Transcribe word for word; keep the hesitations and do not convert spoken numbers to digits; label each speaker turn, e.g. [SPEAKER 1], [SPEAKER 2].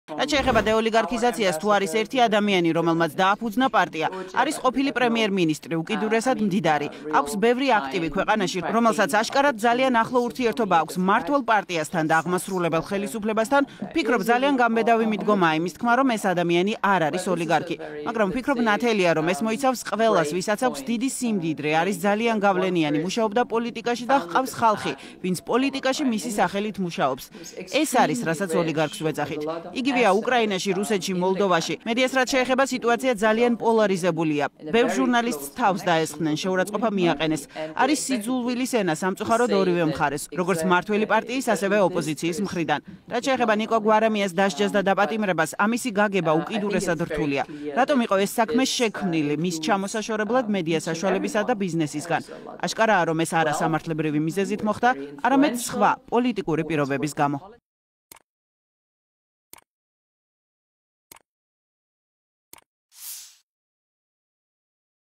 [SPEAKER 1] რაც შეეხება დეოლიგარქიზაციას, თუ არის ერთი ადამიანი, რომელმაც დააფუძნა პარტია, არის ყოფილი პრემიერ-მინისტრი, უკიდურესად მდიდარი. აქვს ბევრი აქტივი ქვეყანაში, რომელსაც აშკარად ძალიან ახლო ურთიერთობა აქვს მმართველ პარტიასთან და აღმასრულებელ ხელისუფლებასთან. Ფიქრობ, ძალიან გამბედავი მიდგომაა იმის თქმა, რომ ეს ადამიანი არ არის ოლიგარქი. მაგრამ ვფიქრობ ნათელია, რომ ეს მოიცავს ყველას, ვისაც აქვს დიდი სიმდიდრე, არის ძალიან გავლენიანი, მუშაობდა პოლიტიკაში და ჰყავს ხალხი, ვინც პოლიტიკაში მისი სახელით მუშაობს. ეს არის, რასაც ოლიგარქს ვეძახით. იგივეა უკრაინაში, რუსეთში, მოლდოვაში. მედიას რაც შეეხება, სიტუაცია ძალიან პოლარიზებულია. ბევრ ჟურნალისტს თავს დაესხნენ, შეურაცხყოფა მიაყენეს. არის სიძულვილის ენა სამწუხაროდ ორივე მხარეს, როგორც მმართველი პარტიის, ასევე ოპოზიციის მხრიდან. რაც შეეხება ნიკო გვარამიას დასჯას და დაპატიმრებას, ამისი გაგება უკიდურესად რთულია. რატომ იყო ეს საქმე შექმნილი მის ჩამოსაშორებლად მედია საშუალებისა და ბიზნესისგან? აშკარაა, რომ ეს არა სამართლებრივი მიზეზით მოხდა, არამედ სხვა პოლიტიკური პირობების გამო.